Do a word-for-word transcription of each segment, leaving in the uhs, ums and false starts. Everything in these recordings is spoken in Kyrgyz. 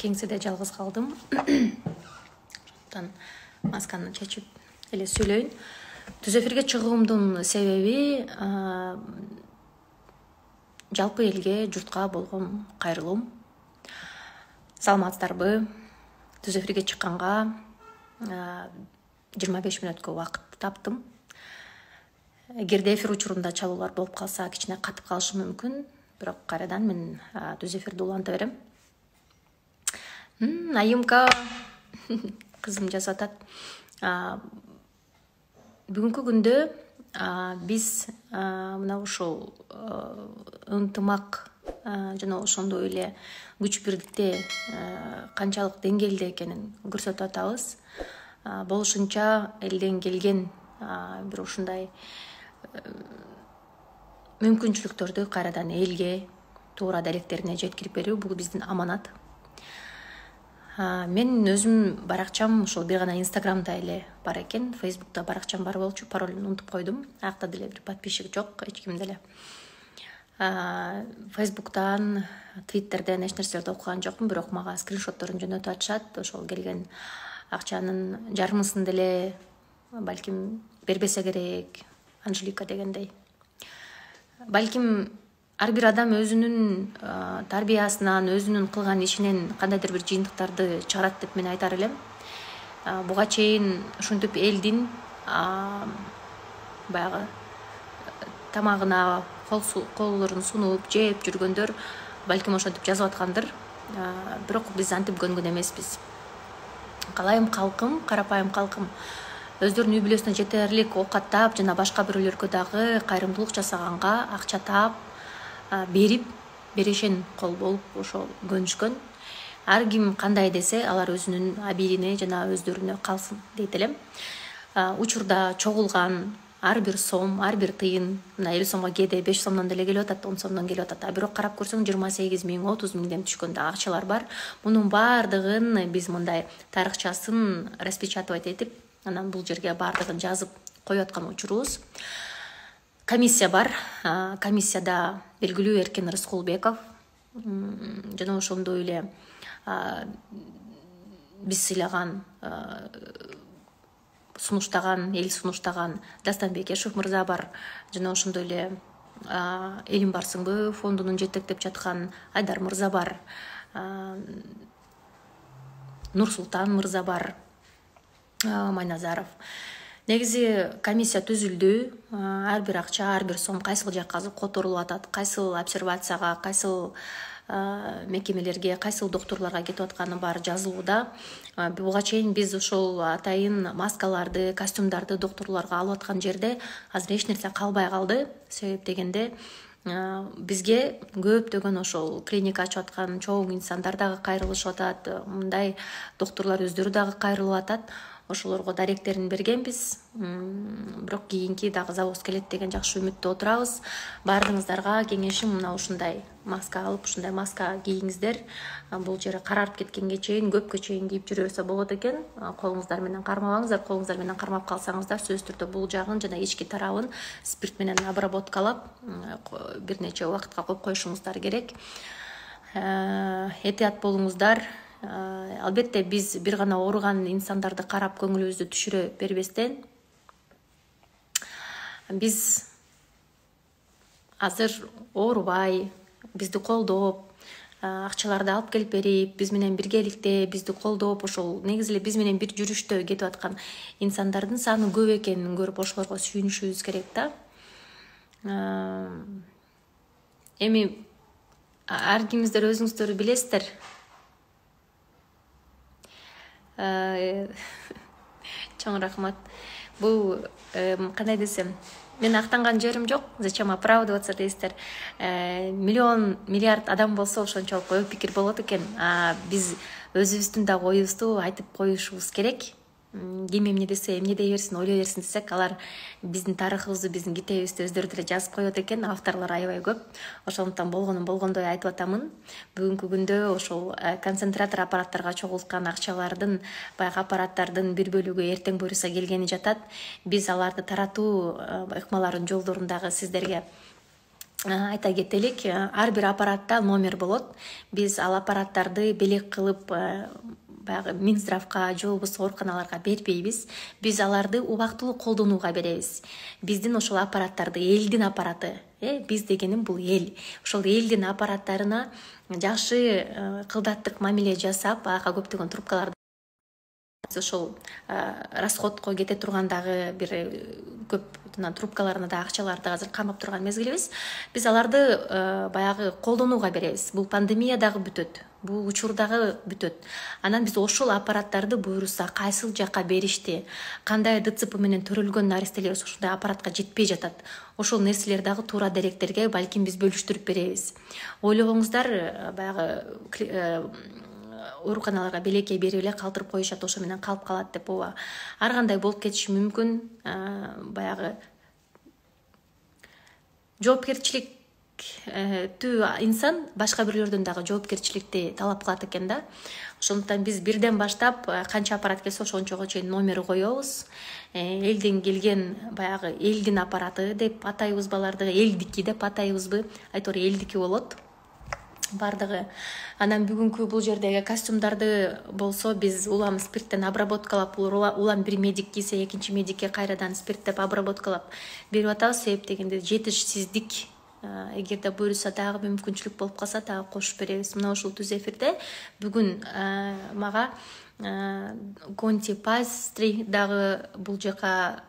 кеңседе жалгыз калдым. Ошондон масканы чечип эле сүйлөйүн. Түз эфирге чыгуумдун себеби жалпы элге, журтка болгон кайрылуум. Саламатсыздарбы? Түз эфирге чыкканга жыйырма беш мүнөткө убакыт таптым. Эгерде эфир учурунда чалуулар болуп калса, кичине катып калышы мүмкүн, бирок кайрадан мен түз эфирди уланта берем. Айымка кызым жазып атат. Бүгүнкү күндө биз мына ушул ынтымак жана ошондой эле күч бирдикте канчалык деңгээлде экенин көрсөтүп атабыз. Болушунча элден келген бир ушундай мүмкүнчүлүктөрдү кайрадан элге, туура даректерине жеткирип берүү бул биздин аманат. Мен өзүм баракчам ошол бир гана Инстаграмда эле бар экен, Фейсбукта баракчам бар болчу, паролун унутуп койдум. Акта деле бир подписчик жок, эч ким деле. Фейсбуктан, Твиттерден эч нерселерди окуган жокмун, бирок мага скриншотторун жөнөтүп атышат. Ошол келген акчанын жарымысын деле балким бербесе керек, Анжелика дегендей. Балким ар бир адам өзүнүн тарбиясынан, өзүнүн кылган ишинен кандайдыр бир жыйынтыктарды чыгарат деп мен айтар элем. Буга чейин ушинтип элдин баягы тамагына колдорун сунуп, жеп жүргөндөр балким ошентип жазып аткандыр. Бирок биз антип көнгөн эмеспиз. Калайым калкым, карапайым калкым өздөрүнүн үй бүлөсүнө жетерлик оокаттап жана башка бирөөлөргө дагы кайрымдуулук жасаганга акча таап, берип, берешен кол болуп ошол көнүшкөн. Ар ким кандай десе, алар өзүнүн абийирине жана өздөрүнө калсын дейт элем. Учурда чогулган ар бир сом, ар бир тыйын, мына элүү сомго кээде беш сомдон деле келип атат, он сомдон келип атат. А бирок карап көрсөң жыйырма сегиз миң, отуз миңден түшкөн да акчалар бар. Мунун баардыгын биз мындай тарыхчасын распечатывать этип, анан бул жерге баардыгын жазып коюп аткан учурубуз. Комиссия бар. Комиссияда белгилүү Эркен Рыскулбеков жана ошондой эле биз сыйлаган, сунуштаган, эл сунуштаган Дастанбек Эшев мырза бар. Жана ошондой эле Элим барсыңбы фондунун жетектеп жаткан Айдар мырза бар. Нурсултан мырза бар. Майназаров. Негизи комиссия түзүлдү. Ар бир акча, ар бир сом кайсыл жакка которулуп атат, кайсыл обсервацияга, кайсыл мекемелерге, кайсыл доктурларга кетип атканы баары жазылууда. Буга чейин биз ошол атайын маскаларды, костюмдарды доктурларга алып аткан жерде азыр эч нерсе калбай калды. Себеп дегенде бизге көптөгөн ошол клиника ачып аткан чоң инсандар дагы кайрылышып атат, мындай доктурлар өздөрү дагы кайрылып атат. Ошолорго даректерин бергенбиз. Бирок кийинки дагы завоз келет деген жакшы үмүттө отурабыз. Баардыгыңыздарга кеңешим мына ушундай маска алып, ушундай маска кийиңиздер. Бул жери карарып кеткенге чейин, көпкө чейин кийип жүрө берсе болот экен. Колуңуздар менен кармабаңыздар. Колуңуздар менен кармап калсаңыздар, сөзсүз түрдө бул жагын жана ички тарабын спирт менен обработкалап бир нече убакытка коюп коюшуңуздар керек. Этият болуңуздар. Албетте биз бир гана ооруган инсандарды карап көңүлүбүздү түшүрө бербестен, биз азыр оорубай, бизди колдоп, акчаларды алып келип берип, биз менен биргеликте бизди колдоп, ошол негизи эле биз менен бир жүрүштө кетип аткан инсандардын саны көп экенин көрүп ошолорго сүйүнүшүбүз керек да. Эми ар кимиңиздер өзүңүздөр билесиздер. Чоң рахмат. Бул кандай десем, мен актанган жерим жок. Зачем оправдываться дейсиздер. Миллион, миллиард адам болсо ошончолук ой пикир болот экен. А биз өзүбүздүн да оюбузду айтып коюшубуз керек. Ким эмне десе эмне дей берсин, ойлой берсин десек, алар биздин тарыхыбызды, биздин китебибизди өздөрү деле жазып коет экен. Авторлор аябай көп. Ошондуктан болгонун болгондой айтып атамын. Бүгүнкү күндө ошол концентратор аппараттарга чогулткан акчалардын, баягы аппараттардын бир бөлүгү эртең буюрса келгени жатат. Биз аларды таратуу ыкмаларын жолдорун дагы сиздерге айта кетелик, ар бир аппаратта номер болот. Биз ал аппараттарды белек кылып баягы Минздравга же болбосо ооруканаларга бербейбиз. Биз аларды убактылуу колдонууга беребиз. Биздин ошол аппараттарды элдин аппараты, э биз дегеним бул эл. Ошол элдин аппараттарына жакшы кылдаттык мамиле жасап, ага көптөгөн трубкаларды ошол расходко кете турган дагы бир көп трубкаларына да акчаларды азыр камап турган мезгилибиз. Биз аларды баягы колдонууга беребиз. Бул пандемия дагы бүтөт. Бул учур дагы бүтөт. Анан биз ошол аппараттарды буюрса кайсыл жакка беришти, кандай ДЦП менен төрөлгөн наристелер ошондой аппаратка жетпей жатат. Ошол нерселер дагы туура деректерге балким биз бөлүштүрүп беребиз. Ойлогоңуздар, баягы ооруканаларга белекке берип эле калтырып коюшат, ошо менен калып калат деп. ооба. Ар кандай болуп кетиши мүмкүн. Баягы жоопкерчилик түү инсан башка бирлөрдөн дагы жоопкерчиликти талап кылат экен да. Ошондуктан биз бирден баштап канча аппарат келсе ошончого чейин номер коебуз. Элден келген баягы элдин аппараты деп атайбызбы аларды, элдики деп атайбызбы? Айтор элдики болот бардыгы. Анан бүгүнкү бул жердеги костюмдарды болсо биз улам спирттен обработкалап, улам бир медик кийсе экинчи медикке кайрадан спирттеп обработкалап берип атабыз. Себеп дегенде жетишсиздик эгерде буюрса дагы мүмкүнчүлүк болуп калса дагы кошуп беребиз. Мына ушул түз эфирде бүгүн мага Конти Пастри дагы бул жака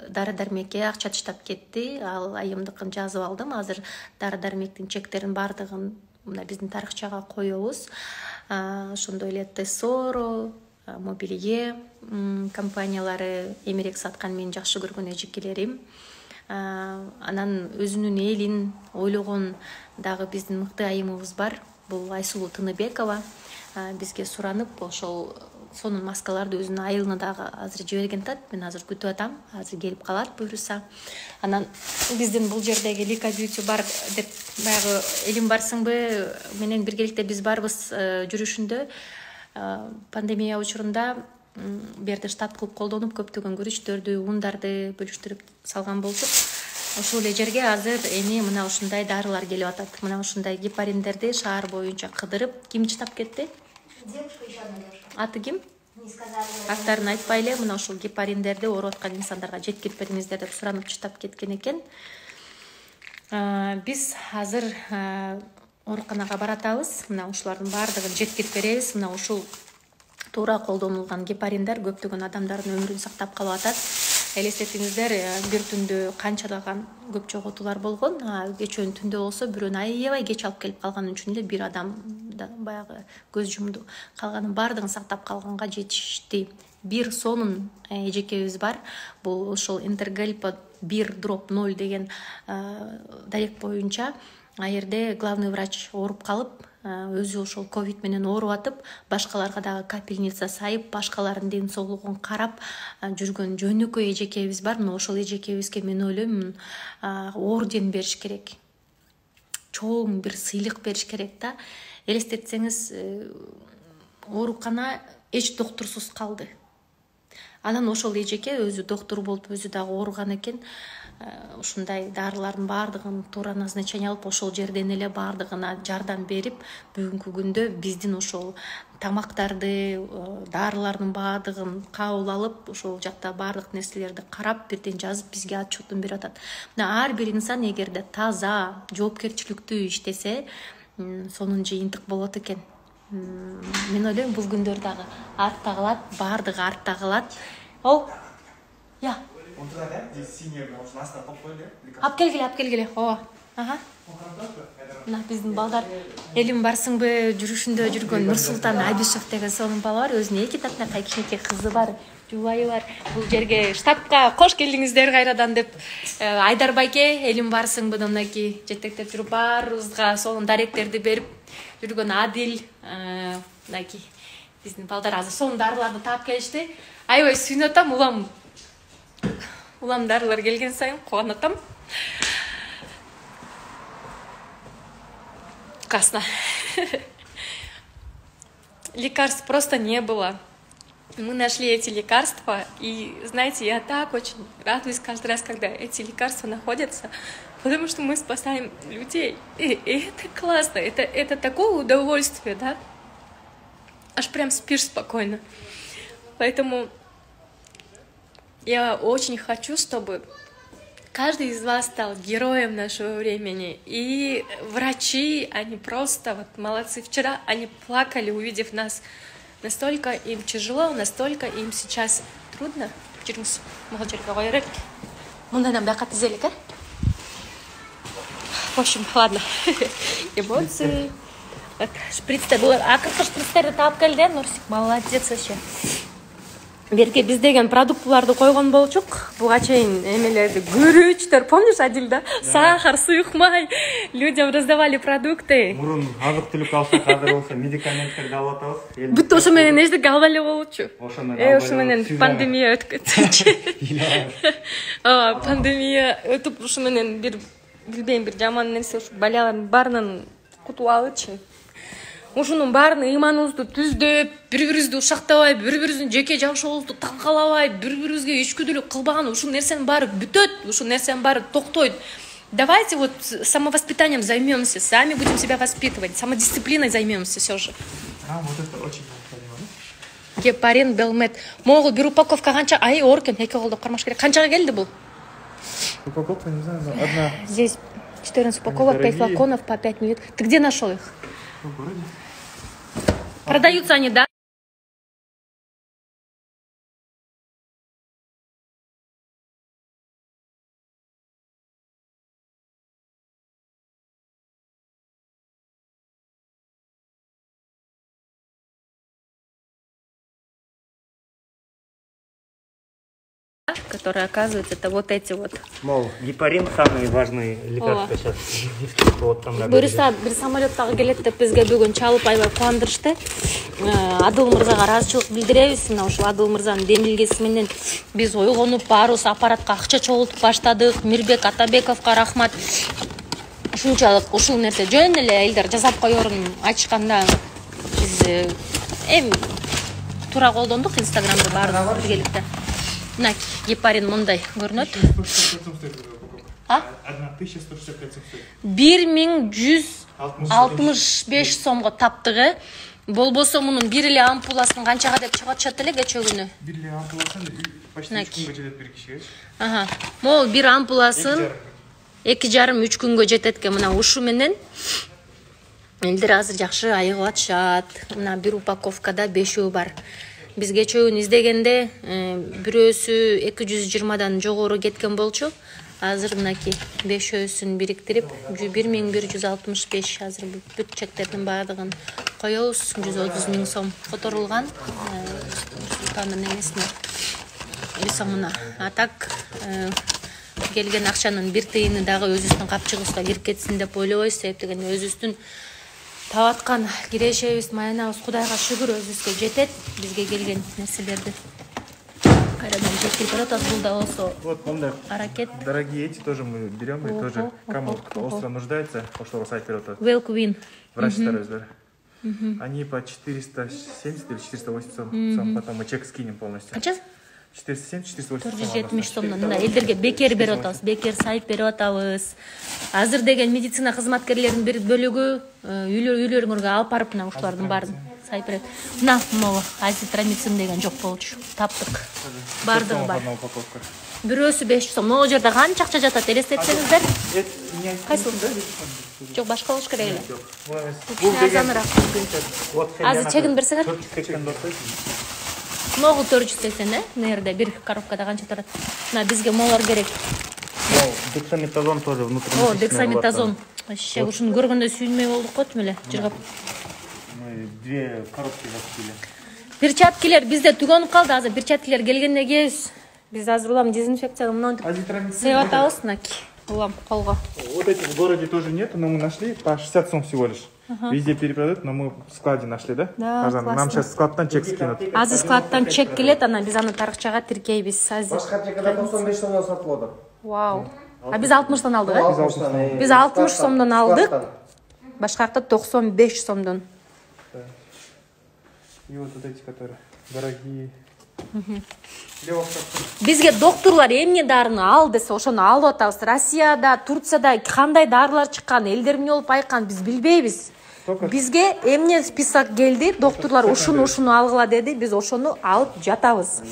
дары дармекке акча таштап кетти. Ал айымдыкын жазып алдым. Азыр дары дармектин чектерин бардыгын мына биздин тарыхчага коебуз. Ошондой эле Тессоро, Мобилие компаниялары, Эмерек саткан менин жакшы көргөн эжекелерим. Анан өзүнүн элин ойлогон дагы биздин мыкты айымыбыз бар. Бул Айсулуу Тыныбекова. Бизге суранып, ошол сонун маскаларды өзүнүн айылына дагы азыр жиберген тат. Мен азыр күтүп атам. Азыр келип калат буюрса. Анан биздин бул жердеги Лика Бьюти бар деп баягы элим барсыңбы менен биргеликте биз барбыз жүрүшүндө. Пандемия учурунда берди штаб кылып колдонуп көптөгөн күрүчтөрдү, ундарды бөлүштүрүп салган болчук. Ошол эле жерге азыр эми мына ушундай дарылар келип атат. Мына ушундай гепариндерди шаар боюнча кыдырып, ким чытап кетти? Девушка еще одна девушка. Аты ким? Не сказала. Аттарын айтпай эле мына ушул гепариндерди ооруп аткан инсандарга жеткирип бериңиздер деп суранып чытап кеткен экен. Биз азыр ооруканага баратабыз. Мына ушулардын баардыгын жеткирип беребиз. Мына ушул туура колдонулган гепариндер көптөгөн адамдардын өмүрүн сактап калып атат. Элестетиңиздер, бир түндө канчалаган көп жоготуулар болгон. Кечөөнү түндө болсо бирөөнү аябай кеч алып келип калганы үчүн эле бир адам баягы көз жумду. Калганын баардыгын сактап калганга жетишти. Бир сонун эжекебиз бар. Бул ошол Интергельпо бир дроп ноль деген дарек боюнча а жерде главный врач ооруп калып, өзү ошол ковид менен ооруп атып, башкаларга дагы капельница сайып, башкалардын ден соолугун карап жүргөн жөнөкөй эжекебиз бар. Мына ошол эжекебизге мен ойлойм, орден бериш керек. Чоң бир сыйлык бериш керек да. Элестетсеңиз, оорукана эч доктурсуз калды. Анан ошол эжеке өзү доктур болуп, өзү дагы ооруган экен. Ушундай дарылардын баардыгын туура назначение алып, ошол жерден эле баардыгына жардам берип, бүгүнкү күндө биздин ошол тамактарды, дарылардын баардыгын кабыл алып, ошол жакта баардык нерселерди карап, бирден жазып бизге отчетун берип атат. Мына ар бир инсан эгерде таза, жоопкерчиликтүү иштесе, сонун жыйынтык болот экен. Мен ойлойм, бул күндөр дагы артта калат, баардыгы артта калат. Ол, я. Он туда, да? Здесь синяя, может, нас там попали? Ап келгиле, ап келгиле. Ооба. Ага. Мына биздин балдар элим барсыңбы жүрүшүндө жүргөн Нурсултан Абишев деген сонун бала бар. Өзүнүн эки татынакай кичинекей кызы бар, жубайы бар. Бул жерге штабка кош келдиңиздер кайрадан деп Айдар байке элим барсыңбы мынакей жетектеп жүрүп баарыбызга сонун даректерди берип жүргөн Адил мынакей биздин балдар азыр сонун дарыларды таап келишти. Аябай сүйүнүп атам, улам улам дарылар келген сайын кубанып атам. Классно. Лекарств просто не было. Мы нашли эти лекарства, и, знаете, я так очень радуюсь каждый раз, когда эти лекарства находятся, потому что мы спасаем людей. И, и это классно, это, это такое удовольствие, да? Аж прям спишь спокойно. Поэтому я очень хочу, чтобы каждый из вас стал героем нашего времени. И врачи, они просто вот молодцы. Вчера они плакали, увидев нас. Настолько им тяжело, настолько им сейчас трудно. В общем, ладно. Эмоции. Шприцтер. Акыркы шприцтерди таап келди, Нурсик. Молодец вообще. Берке биз деген продуктыларды койгон болчук. Буга чейин эмелерди көрүүчтөр, помнишь, Адил, да? Сахар, суюк май. Людям раздавали продукты. Мурун азык түлүк алсак, азыр болсо медикаменттерди алып атабыз. Бүт ошо менен эчтеке албай эле болчу. Ошо менен Э, ошо менен пандемия өтүп кетчү. А, пандемия өтүп ошо менен бир билбейм, бир жаман нерсе ушу балалардын баарынан кутулуп алычы. Ушунун баарын ыйманыбызды түздөп, бири-бирибизди ушактабай, бири-бирибиздин жеке жашообузду талкалабай, бири-бирибизге ичкүдүүлүк кылбаган ушул нерсенин баары бүтөт, ушул нерсенин баары токтойт. Давайте вот самовоспитанием займемся, сами будем себя воспитывать, самодисциплиной займемся все же. А, вот это очень необходимо. Гепарин, Белмет. Могул бир упаковка канча? Ай, оркен, эки колдо кармаш керек. Канчага келди бул? Упаковка, не знаю, но одна. Здесь четырнадцать упаковок, пять флаконов по пять миллилитров. Ты где нашел их? В городе. Продаются они, да? Которые, оказывается, это вот эти вот. Мол, гепарин самый важный лекарство сейчас. Вот там Буюрса бир самолеттагы келет деп бизге бүгүн чалып аябай кубандырышты. Адыл мырзага ыраазычылык билдиребиз. Мына ушул Адыл мырзанын демилгеси менен биз ойгонуп баарыбыз аппаратка акча чогултуп баштадык. Мирбек Атабековго рахмат. Ушунчалык ушул нерсе жөн эле элдер жасап коерун ачканда биз эми туура колдондук Инстаграмда баардыгыбыз биргеликте. Мына гепарин мындай көрүнөт. А? тысяча сто шестьдесят пять стоит. бир миң жүз алтымыш беш сомго таптыгы. Болбосо мунун бир эле ампуласын канчага деп чыгып атышат эле кечээ күнү. бир эле ампуласын почти үч күнгө жетет бир кишиге. Ага. Могул бир ампуласын эки жарым үч күнгө жетет экен. Мына ушу менен элдер азыр жакшы айыгып атышат. Мына бир упаковкада бешөө бар. Биз кечээ күнү издегенде бирөөсү эки жүз жыйырмадан жогору кеткен болчу. Азыр мынакей бешөөсүн бириктирип бир миң бир жүз алтымыш беш азыр бүт чектердин баардыгын коебуз. жүз отуз миң сом которулган Султандын эмесине. Сомуна. А так келген акчанын бир тыйыны дагы өзүбүздүн капчыгыбызга кирип кетсин деп ойлобойбуз. Себеп дегенде өзүбүздүн табаткан кирешебиз, маянабыз Кудайга шүгүр өзүбүзгө жетет. Бизге келген нерселерди кайрадан жеткирип атат. Бул да болсо Вот, мындай аракет. дорогие эти тоже мы берем, и тоже кому остро нуждается, ошого сайт берет. Велквин. Врачтар өздөрү. Они по четыреста семьдесят или четыреста восемьдесят сом, потом мы чек скинем полностью. Канча? четыреста семьдесят четыреста восемьдесят төрт жүз жетимиш сомдон мына элдерге бекер берип атабыз, бекер сайт берип атабыз. Азыр деген медицина кызматкерлеринин бир бөлүгү үйлөрүңөргө алып барып мына ушулардын баарын сайт берет. Мына могу азитромицин деген жок болчу. Таптык. Баардыгы бар. Бирөөсү беш сом. Могу жерде канча акча жатат элестетсеңиздер? Кайсыл? Жок, башка болуш керек эле. Бул азаныраак. Азыр чегин берсеңер. Могу төрт жүз сексен, э? Нерде бир коробкада канча турат? Мына бизге молар керек. Дексаметазон тоже внутри. О, дексаметазон. Вообще, ушуну көргөндө сүйүнмөй болдук го тим эле, жыргап. Мы две коробки закупили. Перчаткилер бизде түгөнүп калды. Азыр перчаткилер келгенде кийебиз. Биз азыр улам дезинфекцияга мынтип сыйып атабыз, мынакей. Улам колго. Вот эти в городе тоже нет, но мы нашли по шестьдесят сом всего лишь. Везде перепродают, но мы в складе нашли, да? Да, классно. Нам сейчас складтан чек скинут. Азыр складтан чек келет, ана биз аны тарыкчага тиркейбиз. Азыр. Башка жакада токсон беш сомдон сатып алды. Вау. А биз алтымыштан алдык, э? Биз алтымыш сомдон алдык. Башка жакта токсон беш сомдон. И вот эти, которые. дорогие. Бизге докторлор эмне дарыны ал десе ошону алып атабыз. Россияда, Турцияда кандай дарылар чыккан, элдер эмне болуп айыккан биз билбейбиз. Бизге эмне список келди, докторлор ушуну ушуну алгыла деди, биз ошону алып жатабыз.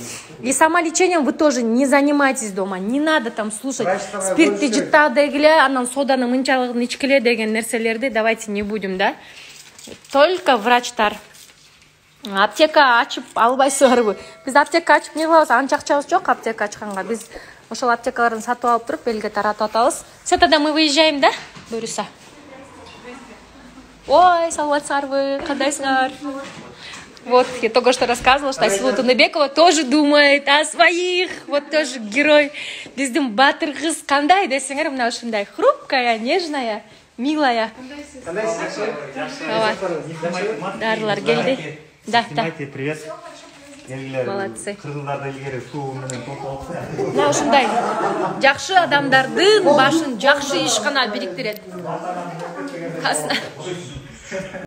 И самолечением вы тоже не занимайтесь дома, не надо там слушать спиртти жыттаа дегиле, анан соданы мынчалыгын ичкиле деген нерселерди давайте не будем, да? Только врачтар. Аптека ачып албайсыздарбы? Биз аптека ачып не кылабыз? Анча акчабыз жок аптека ачканга. Биз ошол аптекаларын сатып алып туруп элге таратып атабыз. Все, тогда мы выезжаем, да? Буюрса. Ой, саламатсыздарбы? Кандайсыңар? Вот, я только что рассказывала, что Айсулу Туныбекова тоже думает о своих. Вот тоже герой. Биздин батыр кыз кандай десеңер, мына ушундай хрупкая, нежная, милая. Дарылар келди. Да, да. Привет. Молодцы. Кыргыздарда илгери суу менен толтуп алып. Мына ушундай жакшы адамдардын башын жакшы иш гана бириктирет.